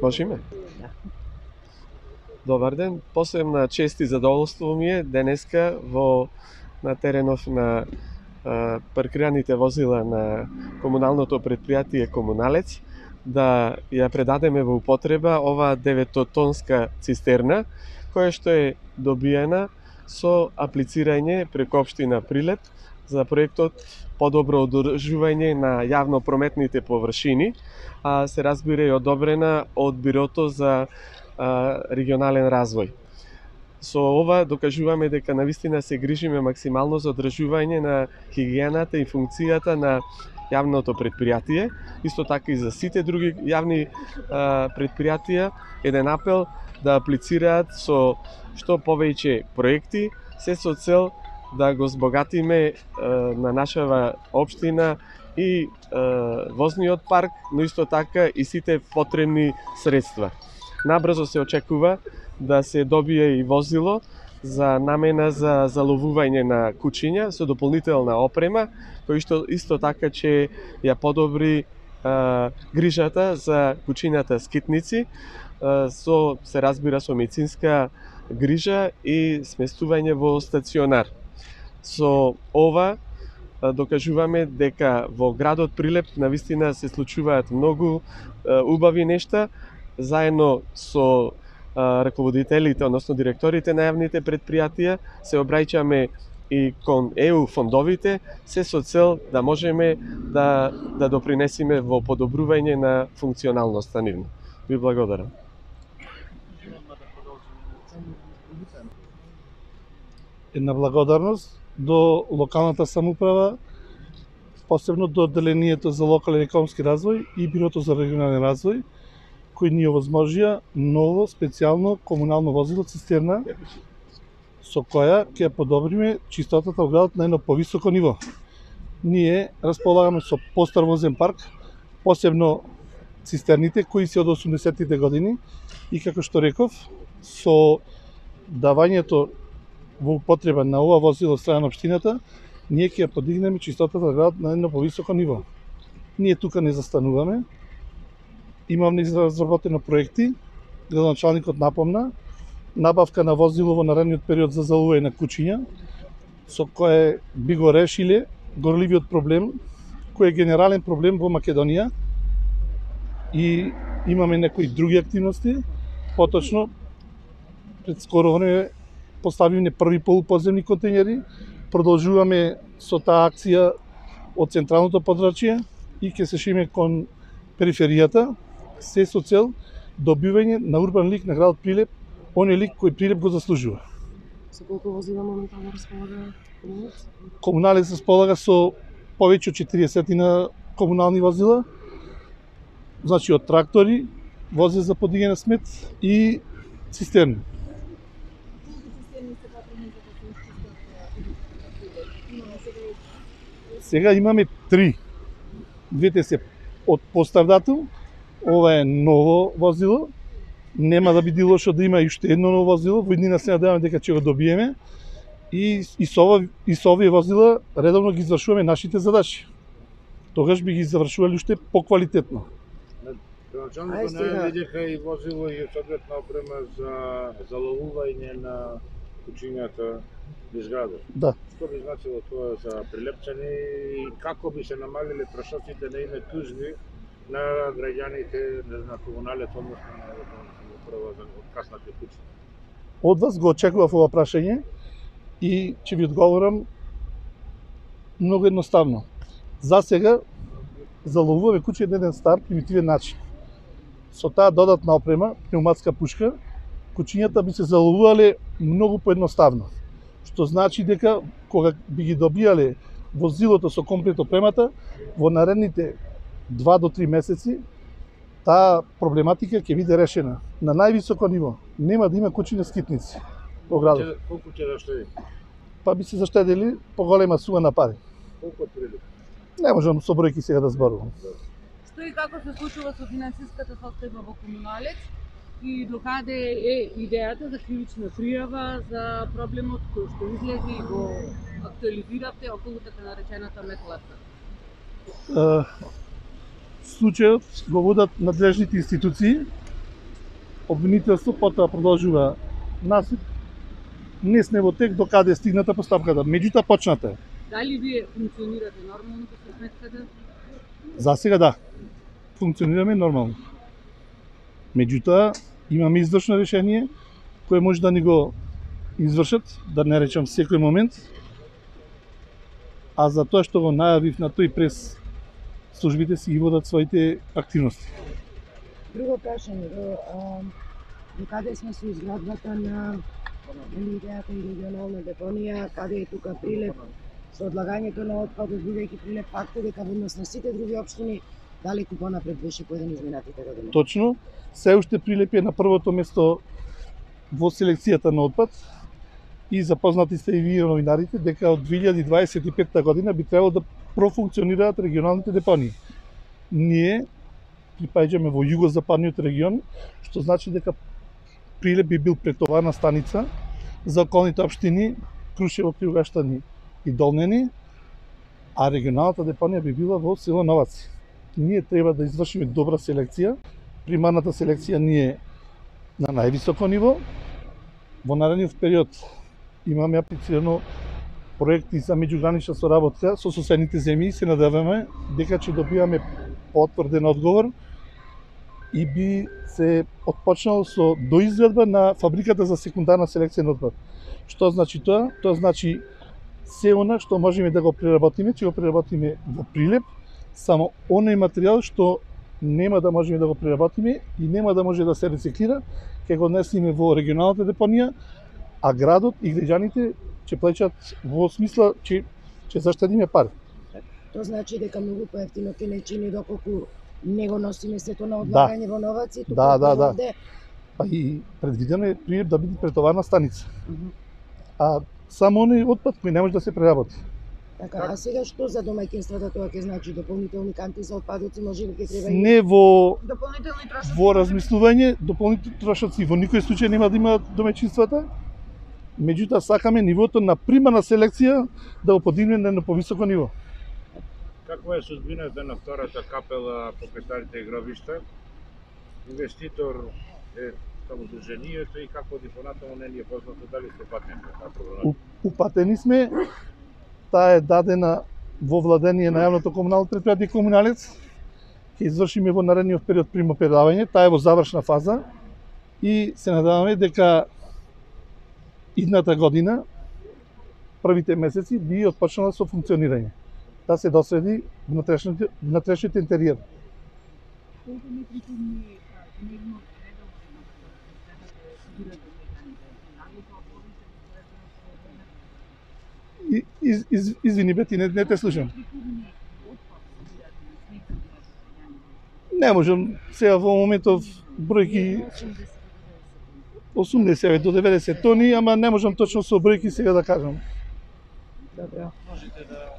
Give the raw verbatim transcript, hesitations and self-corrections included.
Можеме? Добар ден, посебна чест и задоволство ми е денеска во на теренов на а, паркираните возила на комуналното предпријатие Комуналец да ја предадеме во употреба оваа деветотонска цистерна која што е добиена со аплицирање преку општина Прилеп за проектот подобро одржување на јавно прометните површини, а се разбира и одобрена од Бирото за а, регионален развој. Со ова докажуваме дека навистина се грижиме максимално за одржување на хигиената и функцијата на јавното предпријатие, исто така и за сите други јавни а, предпријатија, еден апел да аплицираат со што повеќе проекти, се со цел да го збогатиме а, на нашава општина и а, возниот парк, но исто така и сите потребни средства. Набрзо се очекува да се добие и возило за намена за заловување на кучиња со дополнителна опрема, кој што исто така ќе ја подобри а, грижата за кучињата скитници, а, со се разбира со медицинска грижа и сместување во стационар. Со ова а, докажуваме дека во градот Прилеп навистина се случуваат многу а, убави нешта, заедно со раководителите, односно директорите на јавните предпријатија, се обраќаме и кон Е У фондовите, се со цел да можеме да, да допринесиме во подобрување на функционалноста нивна. Ви благодарам. Една благодарност до локалната самоуправа, посебно до Одделението за локален економски развој и Бирото за регионален развој, кои ни овозможија ново специјално комунално возило цистерна со која ќе подобриме чистотата во градот на едно повисоко ниво. Ние располагаме со постар возен парк, посебно цистерните кои се од осумдесеттите години и како што реков, со давањето во употреба на ова возило од страна на општината, ние ќе ја подигнеме чистотата во градот на едно повисоко ниво. Ние тука не застануваме. Имам разработено проекти, градоначалникот напомна, набавка на возило во наредниот период за заловување на кучиња, со кое би го решиле горливиот проблем, кој е генерален проблем во Македонија, и имаме некои други активности. Поточно, пред скоро време поставивме први полуподземни контејнери, продолжуваме со таа акција од централното подрачје и ќе се шиме кон периферијата, се со цел добивање на урбан лик на градот Прилеп, оној лик кој Прилеп го заслужува. Со колку возила моментално располага Комуналец? Комуналец располага со повеќе од четириесет на комунални возила, значи од трактори, возила за подигање на смет и цистерни. Сега имаме три. Двете се од постар датум, ова е ново возило, нема да биде лошо да има и уште едно ново возило, во иднина се надеваме дека ќе го добиеме и, и, со, ова, и со овие возила редовно ги извршуваме нашите задачи. Тогаш би ги завршували уште поквалитетно. Градоначалникот најави дека и возило и соодветна опрема за заловување на кучињата низ градот. Да. Што би значило тоа за прилепчани и како би се намалиле трошоците на име тужби на граѓаните на Комуналец, односно на управа за откаснати куќи? Од вас го очекував ова прашање и ќе ви одговорам многу едноставно. За сега заловуваме куќи на еден стар примитивен начин. Со таа додатна опрема, пнеуматска пушка, кучињата би се заловувале многу поедноставно. Што значи дека кога би ги добијале возилото со комплет опремата, во наредните два до три месеци таа проблематика ќе биде решена на највисоко ниво. Нема да има кучиња скитници во градот. Колку ќе заштеди? Па би се заштедили поголема сума на пари. Колку отприлика? Не можам со бројки сега да зборувам. Што и како се случува со финансиската состојба во Комуналец и докаде е идејата за кривична пријава за проблемот кој што излезе и го актуализиравте околу така наречената метлата? Случајот го водат надлежните институции обвинителство, потоа продолжува насуд, не сме во тек до каде е стигната постапката. Меѓутоа почната е. Дали вие функционирате нормално со сметката? За сега да. Функционираме нормално. Меѓутоа имаме извршно решение кое може да ни го извршат, да не речам секој момент. А за тоа што го најавив на тој прес, службите си ги водат своите активности. Друго прашање, до, а, до каде сме со изградбата на идејата и регионална депонија, каде е тука Прилеп, со одлагањето на отпадот, бидејќи Прилеп факт е дека во однос на сите други општини далеку понапред беше поеден изминатите години. Точно, се уште Прилеп е на првото место во селекцијата на отпад и запознати сте и вие новинарите дека од две илјади дваесет и петта година би требало да профункционираат регионалните депонии. Ние припаѓаме во југозападниот регион, што значи дека Прилеп би бил претоварна станица за околните општини Крушево, Кривгаштани и Долнени, а регионалната депонија би била во село Новаци. Ние треба да извршиме добра селекција. Примарната селекција ни е на највисоко ниво. Во наредниот период имаме аплицирано проекти за меѓугранична соработка со соседните земји и се надеваме дека ќе добиваме потврден одговор и би се отпочнало со доизградба на фабриката за секундарна селекција на отпад. Што значи тоа? Тоа значи се она што можеме да го преработиме, ќе го преработиме во Прилеп, само оној материјал што нема да можеме да го преработиме и нема да може да се рециклира, ќе го однесеме во регионалната депонија, а градот и граѓаните ќе плаќаат во смисла че ќе заштедиме пари. Тоа значи дека многу поевтино ќе не чини доколку не го носиме сето на одлагање во Новаци, туку Да, да, да. овде. Па и предвидено е Прилеп да биде претоварна станица. Мгм. А само оној отпад кој не може да се преработи. Така, а сега што за домаќинствата тоа ќе значи дополнителни канти за отпадоци, може би ќе треба и Не во Дополнителни трошоци. во размислување, дополнителни трошоци во никој случај нема да имаат домаќинствата. Меѓутоа сакаме нивото на примарна селекција да го подигнеме на повисоко ниво. Каква е судбината на втората капела покрај старите гробишта? Инвеститор е само Друженијето и како оди понатаму не ни е познато дали сте патени на таа проблематика. У- Упатени сме, таа е дадена во владение на јавното комунално предпријатие Комуналец. Ќе извршиме во наредниот период примопредавање, таа е во завршна фаза и се надеваме дека идната година, првите месеци, би отпочнала со функционирање. Да се досреди внатрешниот внатрешниот интериер. Колку метри кубни дневно редовно следате механите? Дали тоа повеќе И, из, из, извини Бети, не, не те слушам. метри кубни отпад собирате на снег за Не можам сега во моментов бројки осумдесет до деветдесет тони, ама не можам точно со бројки сега да кажам. Добро. Можете да